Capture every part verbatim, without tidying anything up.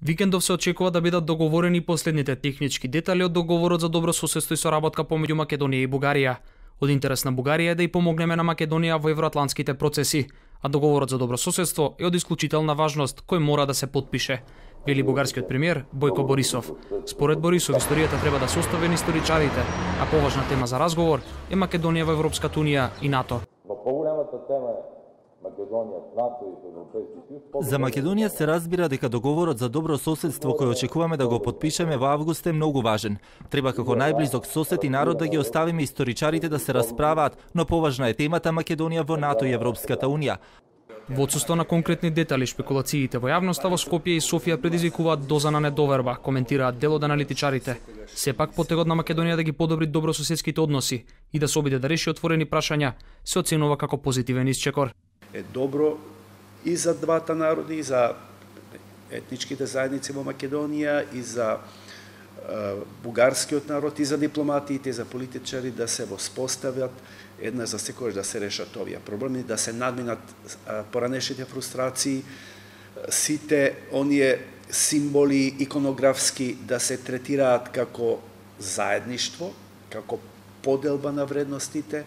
Викендов се очекува да бидат договорени последните технички детали од договорот за добро соседство и соработка помеѓу Македонија и Бугарија. Од интерес на Бугарија е да и помогнеме на Македонија во евроатлантските процеси, а договорот за добро соседство е од исклучителна важност кој мора да се потпише, вели бугарскиот премиер Бојко Борисов. Според Борисов, историјата треба да се остави на историчарите, а поважна тема за разговор е Македонија во Европската унија и НАТО. За Македонија се разбира дека договорот за добро соседство кој очекуваме да го потпишеме во август е многу важен. Треба како најблизок сосед и народ да ги оставиме историчарите да се расправаат, но поважна е темата Македонија во НАТО и Европската унија. Во отсуство на конкретни детали, шпекулациите во јавноста во Скопје и Софија предизвикуваат доза на недоверба, коментираат дел од аналитичарите. Сепак потегот на Македонија да ги подобри добрососедските односи и да се обиде да реши отворени прашања се оценува како позитивен исчекор. Е добро и за двата народи, и за етничките заедници во Македонија, и за е, бугарскиот народ, и за дипломатиите, и за политичари да се воспостават една за секојаш да се решат овие проблеми, да се надминат е, поранешните фрустрации, сите оние символи иконографски да се третираат како заедништво, како поделба на вредностите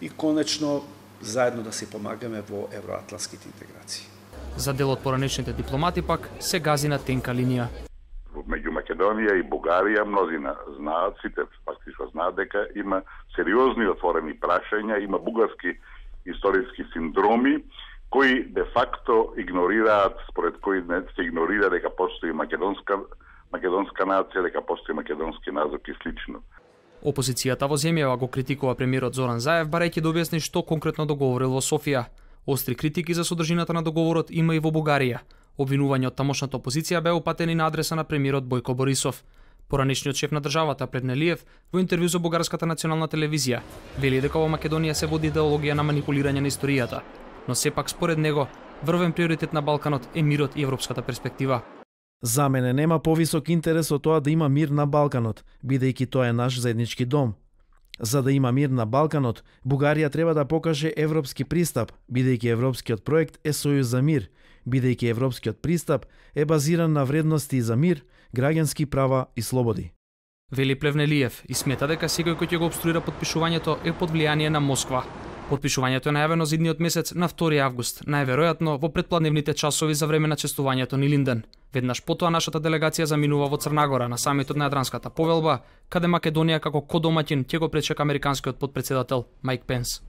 и конечно заедно да си помагаме во евроатлантските интеграции. За дел од поранешните дипломати пак се гази на тенка линија. Меѓу Македонија и Бугарија мнозина знаат, сите фактично знаат дека има сериозни отворени прашања, има бугарски историски синдроми кои де факто игнорираат, според кои не се игнорира дека постои македонска македонска нација, дека постои македонски народ и слично. Опозицијата во земјава го критикува премиерот Зоран Заев, барајќи да објасни што конкретно договорил во Софија. Остри критики за содржината на договорот има и во Бугарија. Обвинување од тамошната опозиција беа упатени на адреса на премиерот Бојко Борисов. Поранешниот шеф на државата Плевнелиев во интервју за бугарската национална телевизија вели дека во Македонија се води идеологија на манипулирање на историјата, но сепак според него врвен приоритет на Балканот е мирот и европската перспектива. За мене нема повисок интерес од тоа да има мир на Балканот, бидејќи тоа е наш заеднички дом. За да има мир на Балканот, Бугарија треба да покаже европски пристап, бидејќи европскиот проект е сојуз за мир, бидејќи европскиот пристап е базиран на вредности за мир, граѓански права и слободи. Вели Плевнелиев и смета дека секој кој ќе го обструира потпишувањето е под влијание на Москва. Потпишувањето е најавено за идниот месец на втори август, најверојатно во предпладневните часови за време на честувањето ни Линден. Веднаш потоа нашата делегација заминува во Црнагора на самитот на Јадранската повелба, каде Македонија како кодомаќин ќе го пречека американскиот потпредседател Мајк Пенс.